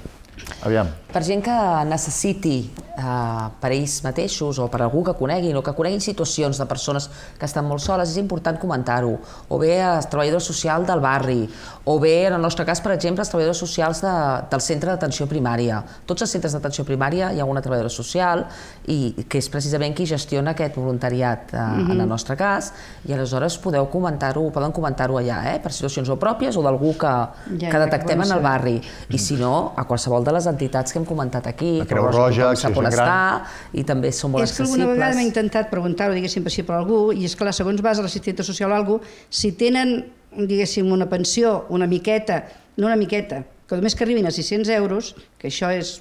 aviam. Per gent que necessiti per ells mateixos o per algú que coneguin o que coneguin situacions de persones que estan molt soles, és important comentar-ho. O bé els treballadors socials del barri, o bé, en el nostre cas, per exemple, els treballadors socials del centre d'atenció primària. Tots els centres d'atenció primària hi ha una treballadora social i que és precisament qui gestiona aquest voluntariat en el nostre cas i aleshores podeu comentar-ho, poden comentar-ho allà, per situacions o pròpies o d'algú que detectem en el barri. I si no, a qualsevol de les entitats que hem comentat aquí, la Creu Roja, Acció Gent Gran, i també són molt accessibles. És que alguna vegada m'he intentat preguntar-ho, diguéssim, per algú, i és clar, segons vas a l'assistenta social o alguna cosa, si tenen, diguéssim, una pensió, una miqueta, no una miqueta, que només que arribin a sis-cents euros, que això és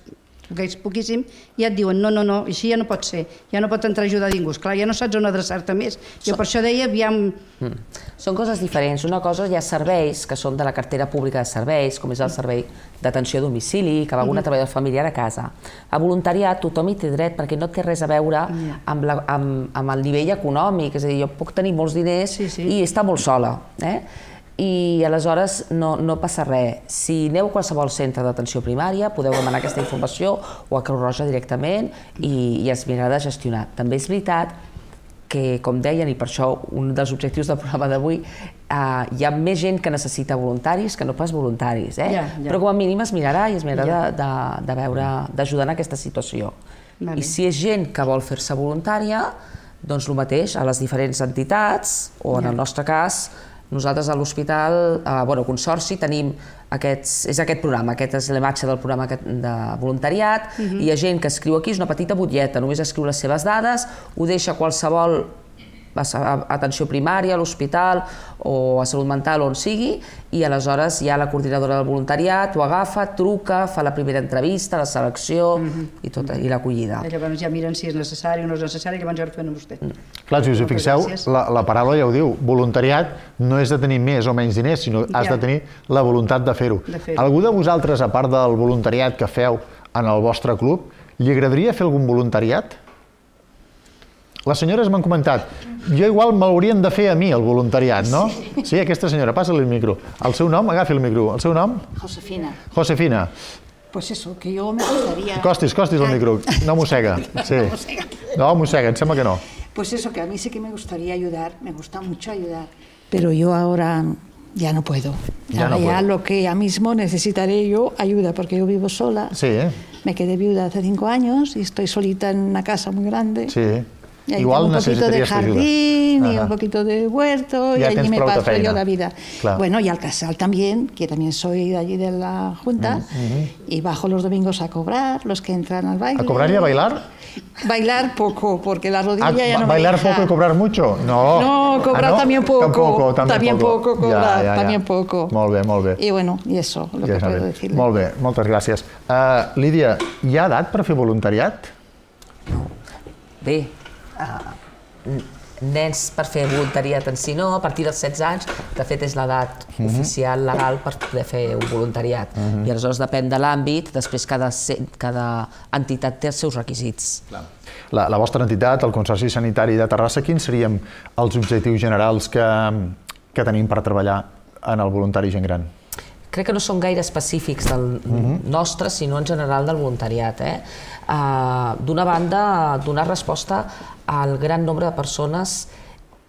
poquíssim, ja et diuen no, no, no, així ja no pot ser, ja no pot entrar a ajudar ningú. Esclar, ja no saps on adreçar-te més. Jo per això deia, aviam... Són coses diferents. Una cosa hi ha serveis que són de la cartera pública de serveis, com és el servei d'atenció a domicili, que va alguna treballadora familiar a casa. A voluntariat tothom hi té dret perquè no té res a veure amb el nivell econòmic, és a dir, jo puc tenir molts diners i estar molt sola. I aleshores no passa res. Si aneu a qualsevol centre d'atenció primària podeu demanar aquesta informació o a Creu Roja directament i es mirarà de gestionar. També és veritat que, com deien, i per això un dels objectius del programa d'avui, hi ha més gent que necessita voluntaris que no pas voluntaris, però com a mínim es mirarà i es mirarà de veure, d'ajudar en aquesta situació. I si és gent que vol fer-se voluntària, doncs el mateix, a les diferents entitats, o en el nostre cas, nosaltres a l'hospital, bueno, Consorci, tenim aquests, és aquest programa, aquest és l'imatge del programa de voluntariat, hi ha gent que escriu aquí, és una petita butlleta, només escriu les seves dades, ho deixa a qualsevol atenció primària, a l'hospital o a salut mental, on sigui, i aleshores hi ha la coordinadora del voluntariat, ho agafa, truca, fa la primera entrevista, la selecció i l'acollida. Llavors ja miren si és necessari o no és necessari, que abans ja ho fem amb vostè. Clar, si us hi fixeu, la paraula ja ho diu, voluntariat no és de tenir més o menys diners, sinó has de tenir la voluntat de fer-ho. Algú de vosaltres, a part del voluntariat que feu en el vostre club, li agradaria fer algun voluntariat? Les senyores m'han comentat, jo igual m'haurien de fer a mi el voluntariat, no? Sí, aquesta senyora, passa-li el micro. El seu nom, agafi el micro. El seu nom? Josefina. Josefina. Pues eso, que yo me gustaría... Costis, costis el micro, no mossega. No, mossega, em sembla que no. Pues eso, que a mí sí que me gustaría ayudar, me gusta mucho ayudar. Pero yo ahora ya no puedo. Ya Ahora no ya puedo. lo que ya mismo necesitaré yo ayuda, porque yo vivo sola. Sí, Me quedé viuda hace cinco años y estoy solita en una casa muy grande. sí. Y ahí Igual tengo un poquito de necesitaries ajuda. jardín y Ajá. un poquito de huerto y Ya allí tens me prou de paso feina. yo la vida. Claro. Bueno, y al casal también, que también soy de allí de la Junta, y bajo los domingos a cobrar, los que entran al baile. ¿A cobrar y a bailar? Bailar poco, porque la rodilla Ah, ya no ¿Bailar me deja. poco y cobrar mucho? No. No, cobrar Ah, no? también poco. Tampoco, también, También poco cobrar, Ja, ja, ja. también poco. Molt bé, molt bé. Y bueno, y eso, lo Ja que està puedo bé. decirle. Molt bé, moltes gràcies. Uh, Lídia, hi ha edat per fer voluntariat? Bé, uh, nens per fer voluntariat en si no, a partir dels setze anys, de fet és l'edat Mhm. oficial legal per poder fer un voluntariat. Mhm. I aleshores depèn de l'àmbit, després cada, cada entitat té els seus requisits. La, la vostra entitat, el Consorci Sanitari de Terrassa, quins serien els objectius generals que, que tenim per treballar en el voluntari gent gran? Crec que no són gaire específics del nostre, sinó en general del voluntariat. Eh? Uh, D'una banda, donar resposta al gran nombre de persones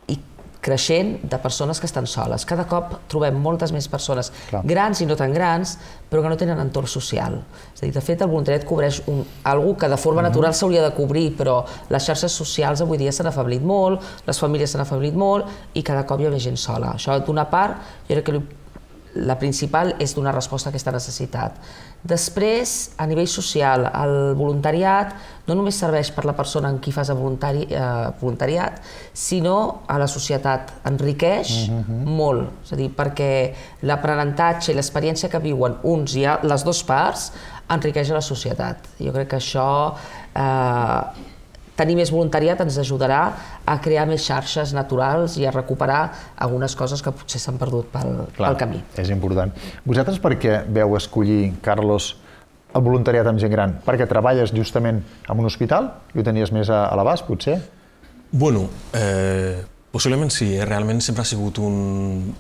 i creixent de persones que estan soles. Cada cop trobem moltes més persones Clar. grans i no tan grans, però que no tenen entorn social. És a dir, de fet, el voluntariat cobreix un, algú que de forma natural s'hauria de cobrir, però les xarxes socials avui dia s'han afeblit molt, les famílies s'han afeblit molt i cada cop hi ha més gent sola. Això, d'una part, jo crec que la principal és donar resposta a aquesta necessitat. Després, a nivell social, el voluntariat no només serveix per la persona en qui fas el voluntari, eh, voluntariat, sinó a la societat. Enriqueix molt, és a dir, perquè l'aprenentatge i l'experiència que viuen uns i les dues parts enriqueix a la societat. Jo crec que això, eh, tenir més voluntariat ens ajudarà a crear més xarxes naturals i a recuperar algunes coses que potser s'han perdut pel, Clar, pel camí. És important. Vosaltres per què veu escollir, Carlos, el voluntariat amb gent gran? Perquè treballes justament en un hospital i ho tenies més a, a l'abast, potser? Bueno, eh, possiblement sí. Eh? Realment sempre ha sigut un,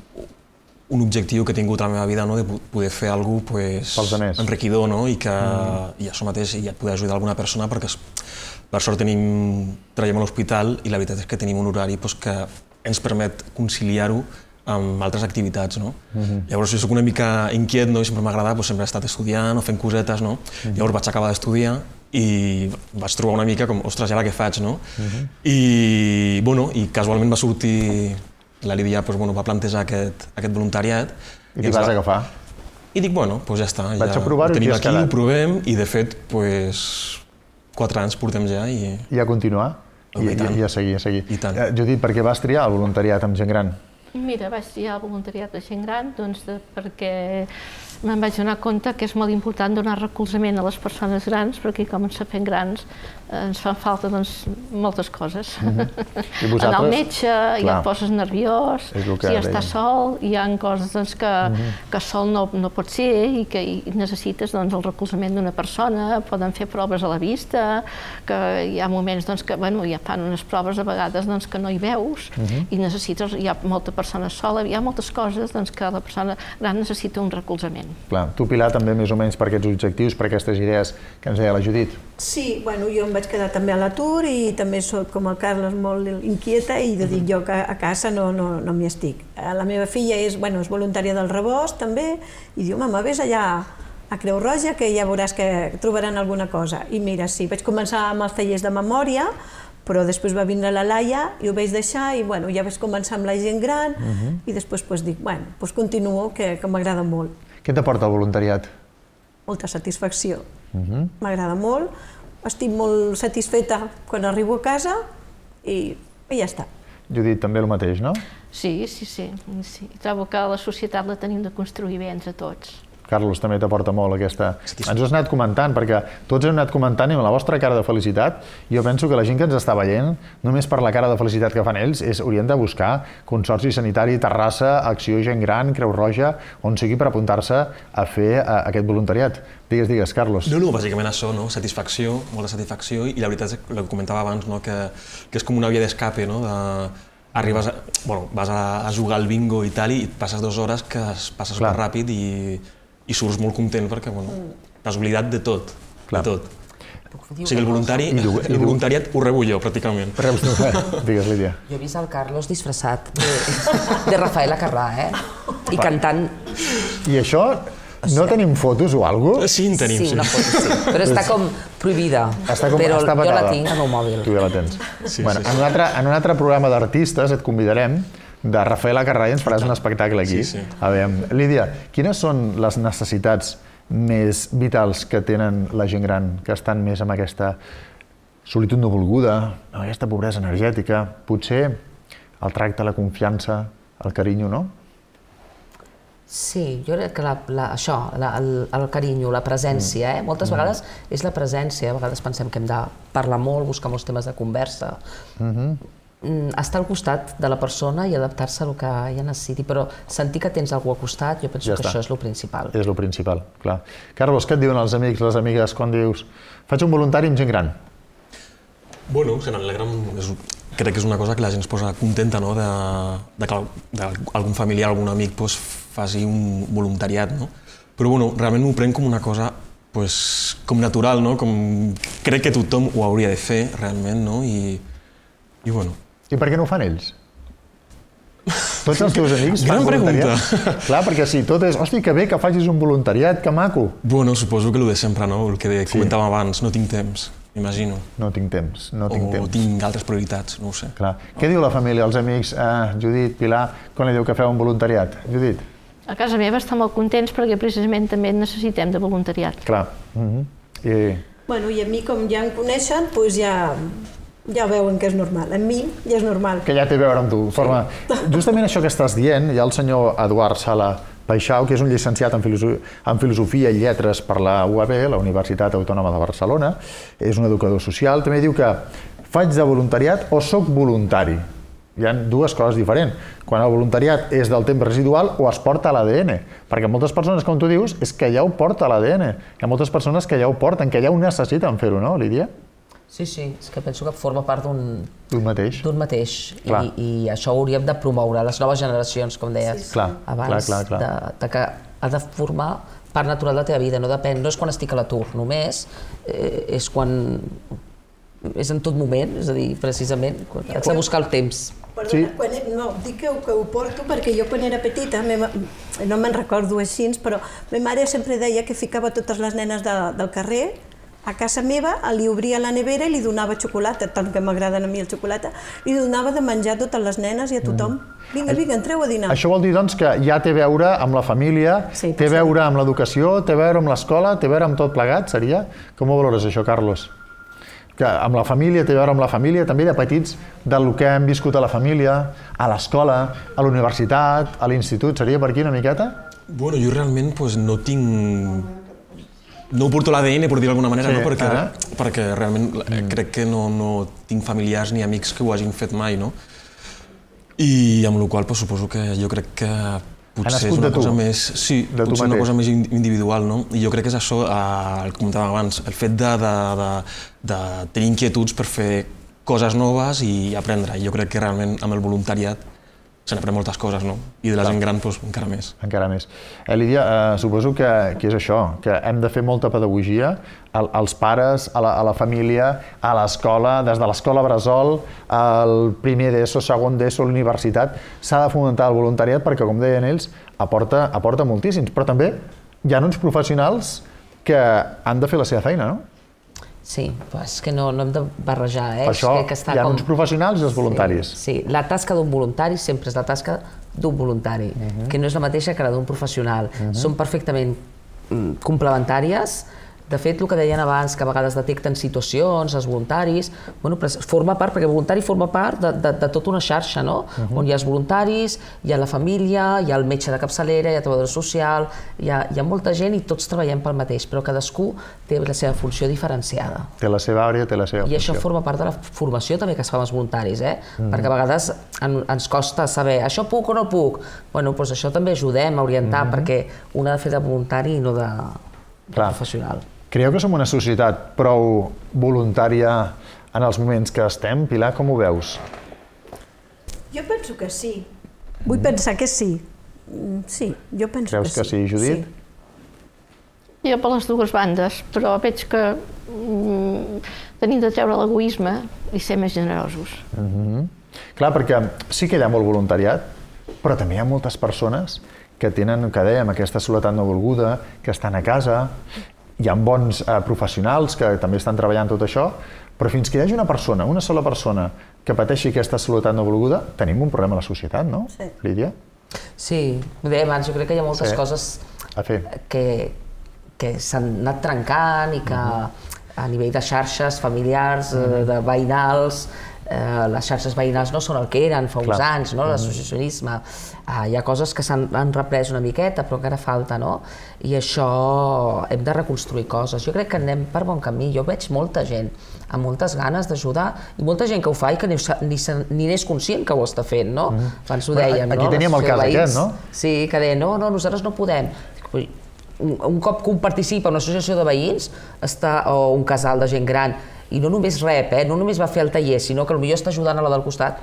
un objectiu que he tingut a la meva vida, no? De poder fer alguna cosa pues, enriquidor, no? I que mm. i això mateix i poder ajudar alguna persona, perquè per sort tenim, treballem a l'hospital i la veritat és que tenim un horari pues, que ens permet conciliar-ho amb altres activitats. No? Mm-hmm. Llavors jo soc una mica inquiet, no? I sempre m'ha agradat, pues, sempre he estat estudiant o fent cosetes. No? Mm-hmm. Llavors vaig acabar d'estudiar i vaig trobar una mica com, ostres, ja la que faig, no? Mm-hmm. I, bueno, i casualment va sortir, la Lídia pues, bueno, va plantejar aquest, aquest voluntariat. I t'hi vas agafar? I dic, bueno, doncs ja està. Vaig ja a provar-ho i tenim t'hi has aquí, quedat. ho provem i de fet, pues, quatre anys portem ja i... I a continuar? Oh, I, i tant. i, I a seguir, a seguir. I tant. Eh, Judit, per què vas triar el voluntariat amb gent gran? Mira, vaig triar el voluntariat de gent gran doncs, de, perquè me'n vaig donar compte que és molt important donar recolzament a les persones grans, perquè com ens fem grans eh, ens fan falta doncs, moltes coses. Mm-hmm. I Anar al metge, Clar. ja et poses nerviós, És el que si dèiem. estàs sol, hi ha coses doncs, que, Mm-hmm. que sol no, no pot ser i que i necessites doncs, el recolzament d'una persona, poden fer proves a la vista, que hi ha moments doncs, que bueno, ja fan unes proves a vegades doncs, que no hi veus Mhm. i necessites, hi ha molta persona sola, hi ha moltes coses doncs, que la persona gran necessita un recolzament. Clar, tu, Pilar, també més o menys per aquests objectius, per aquestes idees que ens deia la Judit. Sí, bueno, jo em vaig quedar també a l'atur i també soc com el Carles molt inquieta i de dir jo que a casa no, no, no m'hi estic. La meva filla és, bueno, és voluntària del Rebost també i diu, mama, vés allà a Creu Roja que ja veuràs que trobaran alguna cosa. I mira, sí, vaig començar amb els tallers de memòria, però després va vindre la Laia i ho vaig deixar i bueno, ja vaig començar amb la gent gran Mhm. i després pues, dic, bueno, pues continuo, que, que m'agrada molt. Què t'aporta el voluntariat? Molta satisfacció. Mhm. M'agrada molt, estic molt satisfeta quan arribo a casa i, i ja està. Judit, també el mateix, no? Sí, sí, sí, sí. Trobo que la societat la tenim de construir bé entre tots. Carlos, també t'aporta molt aquesta... Ens ho has anat comentant, perquè tots heu anat comentant i amb la vostra cara de felicitat, jo penso que la gent que ens està veient, només per la cara de felicitat que fan ells, és, haurien de buscar Consorci Sanitari Terrassa, Acció Gent Gran, Creu Roja, on sigui per apuntar-se a fer a, aquest voluntariat. Digues, digues, Carlos. No, no, bàsicament això, no? Satisfacció, molta satisfacció, i la veritat és el que comentava abans, no? que, que és com una via d'escape, no? De... Arribes a, bueno, vas a, a jugar al bingo i tal, i et passes dues hores que es passa super ràpid i, i surts molt content perquè bueno, t'has oblidat de tot, Clar. de tot. O sigui, el, voluntari, I, i, el voluntariat ho rebo jo, pràcticament. Reus tu, eh? Digues, Lídia. Jo he vist el Carlos disfressat de, de Rafaela Carrà, eh? I cantant. I això, no tenim fotos o alguna cosa? Sí, en tenim, sí. Sí, una foto, sí. Però està com prohibida. Està com, però està jo la vetada. tinc al meu mòbil. Tu ja la tens. Sí, bueno, sí, en, sí. un altre, en un altre programa d'artistes et convidarem, de Rafaela Carrà, i ens faràs un espectacle aquí. Sí, sí. A veure, Lídia, quines són les necessitats més vitals que tenen la gent gran, que estan més amb aquesta solitud no volguda, amb aquesta pobresa energètica? Potser el tracte, la confiança, el carinyo, no? Sí, jo crec que la, la, això, la, el, el carinyo, la presència, eh? moltes Mm. vegades és la presència, a vegades pensem que hem de parlar molt, buscar molts temes de conversa, Mhm. mm, estar al costat de la persona i adaptar-se al que ella necessiti, però sentir que tens algú al costat, jo penso Ja que està. això és el principal. És el principal, clar. Carlos, què et diuen els amics, les amigues, quan dius faig un voluntari amb gent gran? Bueno, se n'alegra, és, crec que és una cosa que la gent es posa contenta, no?, de, de que de algun familiar, algun amic pues, faci un voluntariat, no? Però bueno, realment m'ho prenc com una cosa pues, com natural, no? Com crec que tothom ho hauria de fer realment, no? I, i bueno. I per què no ho fan ells? Tots els teus amics fan Gran voluntariat? pregunta. Clar, perquè si tot és, hosti, que bé que facis un voluntariat, que maco. Bueno, suposo que el de sempre, no? El que comentàvem abans, no tinc temps, m'imagino. No tinc temps, no tinc o temps. tinc altres prioritats, no ho sé. Clar. Què diu la família, els amics, eh, Judit, Pilar, quan li diu que feu un voluntariat? Judit? A casa meva estan molt contents perquè precisament també necessitem de voluntariat. Clar. Mhm. I... Bueno, i a mi, com ja em coneixen, doncs ja, ja veuen que és normal. A mi ja és normal. Que ja té a veure amb tu. Forma... Justament això que estàs dient, hi ha el senyor Eduard Sala Paixau, que és un llicenciat en, filoso... en Filosofia i Lletres per la U A B, la Universitat Autònoma de Barcelona, és un educador social, també diu que faig de voluntariat o soc voluntari. Hi ha dues coses diferents. Quan el voluntariat és del temps residual o es porta a l'A D N. Perquè moltes persones, com tu dius, és que ja ho porta a l'A D N. Hi ha moltes persones que ja ho porten, que ja ho necessiten fer-ho, no, Lídia? Sí, sí, és que penso que forma part d'un... D'un mateix. D'un mateix. Clar. I, I això ho hauríem de promoure, les noves generacions, com deies Sí, sí. Clar, abans, clar, clar, clar. De, de que ha de formar part natural de la teva vida, no depèn, no és quan estic a l'atur només, eh, és quan... és en tot moment, és a dir, precisament, quan haig de buscar el temps. Perdona, sí. quan, no, dic que, que ho porto perquè jo quan era petita, meva, no me'n recordo així, però ma mare sempre deia que ficava totes les nenes de, del carrer a casa meva, li obria la nevera i li donava xocolata, tant que m'agraden a mi el xocolata, li donava de menjar a totes les nenes i a tothom. Vinga, vinga, entreu a dinar. Això vol dir, doncs, que ja té a veure amb la família, sí, té a veure amb l'educació, té a veure amb l'escola, té a veure amb tot plegat, seria? Com ho valores, això, Carlos? Que amb la família, té a veure amb la família, també de petits, del que hem viscut a la família, a l'escola, a la universitat, a l'institut, seria per aquí una miqueta? Bueno, jo realment pues, no tinc... No ho porto a l'A D N, per dir d'alguna manera, sí, no? perquè, eh? perquè realment mm. crec que no, no tinc familiars ni amics que ho hagin fet mai, no? I amb la qual cosa suposo que jo crec que potser és una cosa més... Sí, potser una cosa més individual, no? I jo crec que és això, el que comentàvem abans, el fet de, de, de, de tenir inquietuds per fer coses noves i aprendre. I jo crec que realment amb el voluntariat se n'aprèn moltes coses, no? I de la gent gran, doncs, encara més. Encara més. Eh, Lídia, eh, suposo que, que és això, que hem de fer molta pedagogia al, als pares, a la, a la família, a l'escola, des de l'escola bressol, al primer d'ESO, segon d'ESO, l'universitat, s'ha de fomentar el voluntariat perquè, com deien ells, aporta, aporta moltíssims. Però també hi ha uns professionals que han de fer la seva feina, no? Sí, però és que no, no hem de barrejar, eh? Per això que està hi ha com... uns professionals i els voluntaris. Sí, sí, la tasca d'un voluntari sempre és la tasca d'un voluntari, uh-huh. que no és la mateixa que la d'un professional. Uh-huh. Són perfectament mm, complementàries. De fet, el que deien abans, que a vegades detecten situacions, els voluntaris, bueno, forma part, perquè el voluntari forma part de, de, de tota una xarxa, no? Uh-huh. On hi ha els voluntaris, hi ha la família, hi ha el metge de capçalera, hi ha el treballador social, hi ha, hi ha molta gent i tots treballem pel mateix, però cadascú té la seva funció diferenciada. Té la seva àrea, té la seva I funció. I això forma part de la formació també que es fa amb els voluntaris, eh? Uh-huh. Perquè a vegades en, ens costa saber, això puc o no puc? Bueno, doncs això també ajudem a orientar, uh-huh. perquè un ha de fer de voluntari i no de, de professional. Creieu que som una societat prou voluntària en els moments que estem? Pilar, com ho veus? Jo penso que sí. Vull mm. pensar que sí. Sí, jo penso Creus que sí. Creus que sí, Judit? Sí. Jo per les dues bandes, però veig que mm, tenim de treure l'egoisme i ser més generosos. Mm-hmm. Clar, perquè sí que hi ha molt voluntariat, però també hi ha moltes persones que tenen, que dèiem, aquesta soledat no volguda, que estan a casa, hi ha bons professionals que també estan treballant tot això, però fins que hi hagi una persona, una sola persona, que pateixi aquesta soledat no volguda, tenim un problema a la societat, no, Lídia? Sí, ho deia abans, jo crec que hi ha moltes coses que s'han anat trencant i que a nivell de xarxes familiars, de veïnals, les xarxes veïnals no són el que eren fa uns anys, l'associacionisme. Hi ha coses que s'han reprès una miqueta, però encara falta, no? I això hem de reconstruir coses. Jo crec que anem per bon camí. Jo veig molta gent amb moltes ganes d'ajudar i molta gent que ho fa i que ni n'és conscient que ho està fent, no? Abans ho dèiem, no? Aquí teníem el cas aquest, no? Sí, que deien, no, no, nosaltres no podem. Un cop que un participa en una associació de veïns o un casal de gent gran i no només rep, no només va fer el taller, sinó que potser està ajudant a la del costat,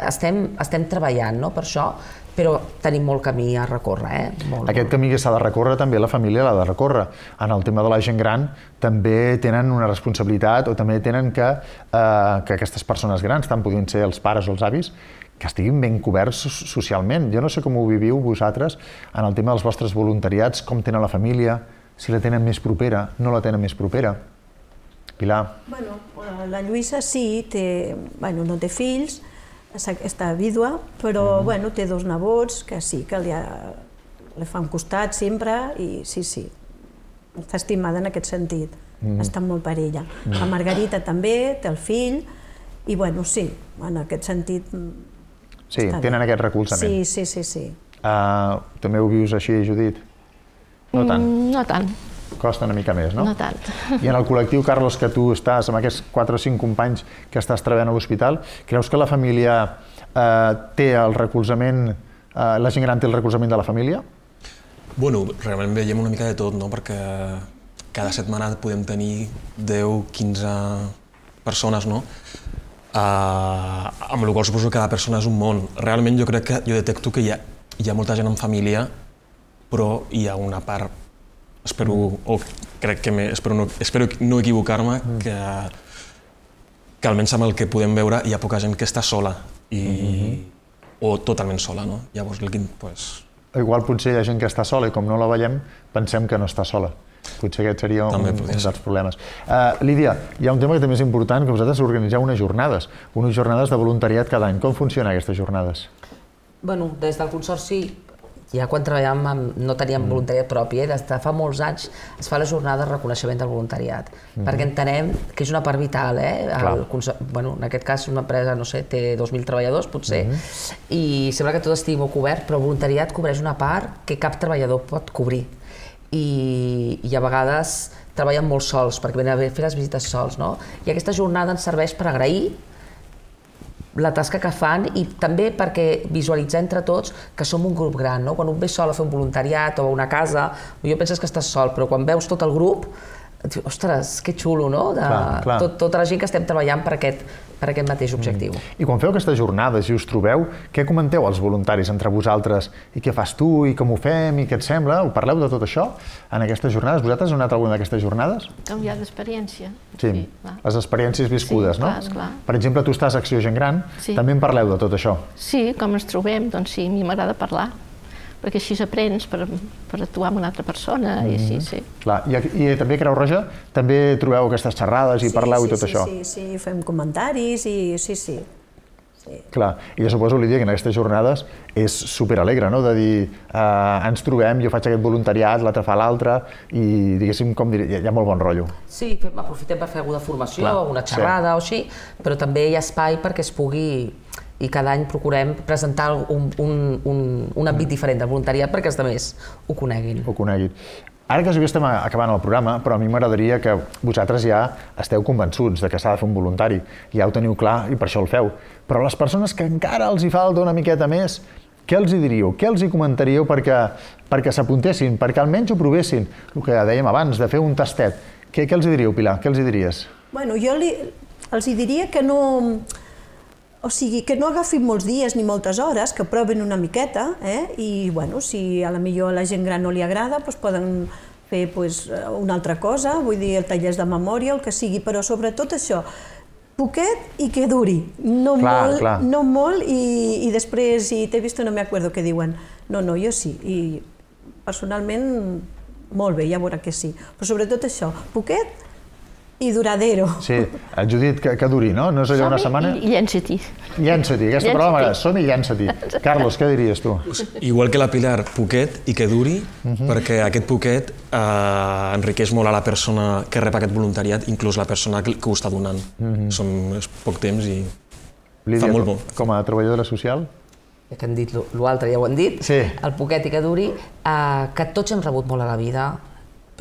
estem treballant per això, però tenim molt camí a recórrer. Aquest camí que s'ha de recórrer també la família l'ha de recórrer. En el tema de la gent gran també tenen una responsabilitat o també tenen que aquestes persones grans, tant podien ser els pares o els avis, que estiguin ben coberts socialment. Jo no sé com ho viviu vosaltres en el tema dels vostres voluntariats, com tenen la família, si la tenen més propera, no la tenen més propera. Pilar? Bueno, la Lluïsa sí, no té fills, està vídua, però té dos nebots que sí, que li fan costat sempre i sí, sí, està estimada en aquest sentit, està molt per ella. La Margarita també té el fill i bueno, sí, en aquest sentit... Sí, tenen aquest recolzament. Sí, sí, sí. També ho vius així, Judit? No tant? No tant. Costa una mica més, no? No tant. I en el col·lectiu, Carlos, que tu estàs amb aquests quatre o cinc companys que estàs treballant a l'hospital, creus que la família té el recolzament, la gent gran té el recolzament de la família? Bueno, realment veiem una mica de tot, no? Perquè cada setmana podem tenir deu, quinze persones, no? Amb la qual suposo que cada persona és un món. Realment jo crec que jo detecto que hi ha molta gent en família, però hi ha una part, espero, o crec que espero no equivocar-me, que almenys amb el que podem veure hi ha poca gent que està sola o totalment sola, no? Llavors, igual potser hi ha gent que està sola i com no la veiem pensem que no està sola. Potser aquest seria un dels problemes. Lídia, hi ha un tema que també és important, que vosaltres organitzeu unes jornades, unes jornades de voluntariat cada any. Com funcionen aquestes jornades? Bueno, des del Consorci, ja quan treballàvem no teníem voluntariat propi, des de fa molts anys es fa la jornada de reconeixement del voluntariat, perquè entenem que és una part vital, en aquest cas una empresa, no sé, té dos mil treballadors potser, i sembla que tot estigui molt cobert, però el voluntariat cobreix una part que cap treballador pot cobrir. I a vegades treballen molt sols, perquè venen a fer les visites sols, no? I aquesta jornada ens serveix per agrair la tasca que fan i també perquè visualitzar entre tots que som un grup gran, no? Quan un ve sol a fer un voluntariat o a una casa, jo penses que estàs sol, però quan veus tot el grup, dius, ostres, que xulo, no? Tota la gent que estem treballant per aquest mateix objectiu. I quan feu aquestes jornades i us trobeu, què comenteu als voluntaris entre vosaltres? I què fas tu, i com ho fem, i què et sembla? Ho parleu de tot això en aquestes jornades? Vosaltres heu anat a alguna d'aquestes jornades? Canviar d'experiència. Sí, les experiències viscudes, no? Sí, clar. Per exemple, tu estàs a Acció Gent Gran, també en parleu de tot això? Sí, com ens trobem, doncs sí, a mi m'agrada parlar, perquè així aprens per actuar amb una altra persona i així, sí. I també a Creu Roja també trobeu aquestes xerrades i parleu i tot això? Sí, sí, sí, fem comentaris i sí, sí. Clar, i jo suposo, Lídia, que en aquestes jornades és superalegre, no?, de dir, ens trobem, jo faig aquest voluntariat, l'altre fa l'altre, i diguéssim, com dir, hi ha molt bon rotllo. Sí, aprofitem per fer alguna formació, alguna xerrada o així, però també hi ha espai perquè es pugui... i cada any procurem presentar un àmbit diferent del voluntariat perquè els altres ho coneguin. Ho coneguin. Ara que estem acabant el programa, però a mi m'agradaria que vosaltres ja esteu convençuts que s'ha de fer un voluntari, ja ho teniu clar i per això el feu, però les persones que encara els hi falta una miqueta més, què els hi diríeu? Què els hi comentaríeu perquè s'apuntessin, perquè almenys ho provessin? El que dèiem abans, de fer un tastet. Què els hi diríeu, Pilar? Què els hi diries? Bueno, jo els hi diria que no... O sigui, que no agafin molts dies ni moltes hores, que provin una miqueta, i, bueno, si a la millor a la gent gran no li agrada, doncs poden fer una altra cosa, vull dir, tallers de memòria, el que sigui, però sobretot això, poquet i que duri, no molt, no molt i, i després, si t'he vist no me acuerdo què diuen. No, no, jo sí, i personalment molt bé, ja veurà que sí, però sobretot això, poquet i duradero. Sí, Judit, que, que duri, no? No és allò una setmana? I llença-t'hi. Llença-t'hi, aquesta paraula m'agrada, som-hi, llença-t'hi. Carlos, què diries tu? Igual que la Pilar, poquet i que duri, perquè aquest poquet enriqueix molt a la persona que rep aquest voluntariat, inclús la persona que ho està donant. Són poc temps i fa molt bo. Com a treballadora social? Que han dit l'altre, ja ho han dit, el poquet i que duri, que tots hem rebut molt a la vida,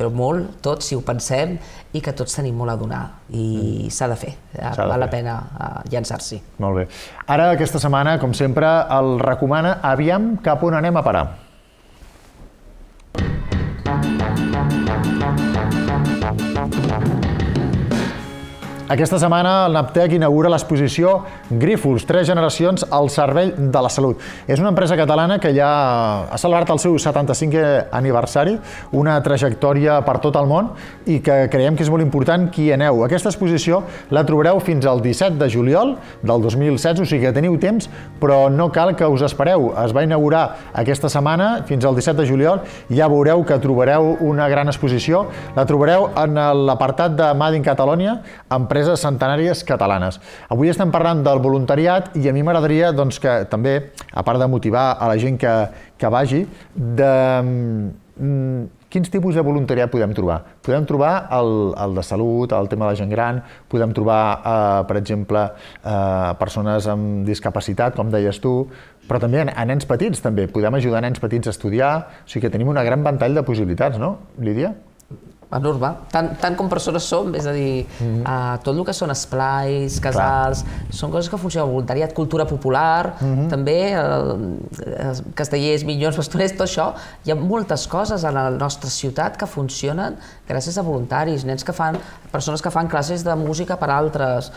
però molt, tots, si ho pensem, i que tots tenim molt a donar, i s'ha de fer, val la pena llançar-s'hi. Molt bé. Ara, aquesta setmana, com sempre, el recomana Aviam cap on anem a parar. Aquesta setmana el Naptec inaugura l'exposició Grífols, tres generacions al servei de la salut. És una empresa catalana que ja ha celebrat el seu setanta-cinquè aniversari, una trajectòria per tot el món i que creiem que és molt important que hi aneu. Aquesta exposició la trobareu fins al disset de juliol del dos mil setze, o sigui que teniu temps, però no cal que us espereu. Es va inaugurar aquesta setmana, fins al disset de juliol, i ja veureu que trobareu una gran exposició. La trobareu en l'apartat de Made in Catalonia, empresa centenàries catalanes. Avui estem parlant del voluntariat i a mi m'agradaria que també, a part de motivar a la gent que vagi, de quins tipus de voluntariat podem trobar? Podem trobar el de salut, el tema de la gent gran, podem trobar, per exemple, persones amb discapacitat, com deies tu, però també a nens petits, també. Podem ajudar nens petits a estudiar, o sigui que tenim una gran ventall de possibilitats, no, Lídia? Enorme, tant com persones som, és a dir, tot el que són esplais, casals, són coses que funcionen, voluntariat, cultura popular, també castellers, minyons, pastorets, tot això. Hi ha moltes coses a la nostra ciutat que funcionen gràcies a voluntaris, nens que fan, persones que fan classes de música per altres,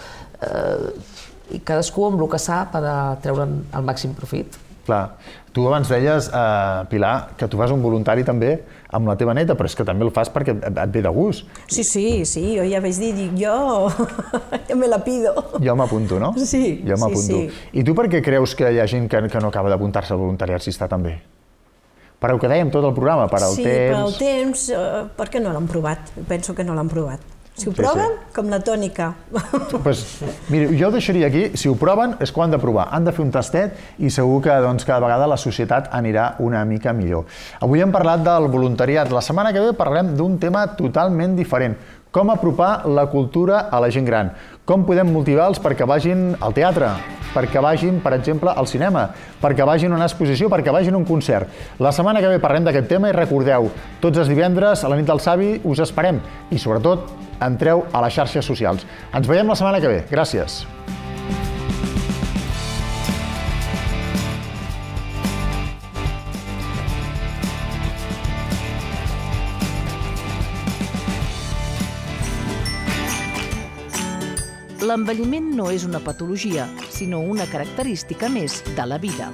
i cadascú amb el que sap per treure'n el màxim profit. Clar. Tu abans deies, Pilar, que tu fas un voluntari també amb la teva neta, però és que també el fas perquè et ve de gust. Sí, sí, sí, jo ja vaig dir, dic, jo me la pido. Jo m'apunto, no? Sí, sí, sí. I tu per què creus que hi ha gent que no acaba d'apuntar-se al voluntariat si està tan bé? Per el que dèiem tot el programa, per al temps... Sí, per al temps, perquè no l'han provat, penso que no l'han provat. Si ho proven, com la tònica. Mira, jo ho deixaria aquí. Si ho proven, és que ho han de provar. Han de fer un tastet i segur que cada vegada la societat anirà una mica millor. Avui hem parlat del voluntariat. La setmana que ve parlarem d'un tema totalment diferent. Com apropar la cultura a la gent gran. Com podem motivar-los perquè vagin al teatre, perquè vagin, per exemple, al cinema, perquè vagin a una exposició, perquè vagin a un concert. La setmana que ve parlem d'aquest tema i recordeu, tots els divendres a la nit del Savi us esperem i, sobretot, entreu a les xarxes socials. Ens veiem la setmana que ve. Gràcies. L'envelliment no és una patologia, sinó una característica més de la vida.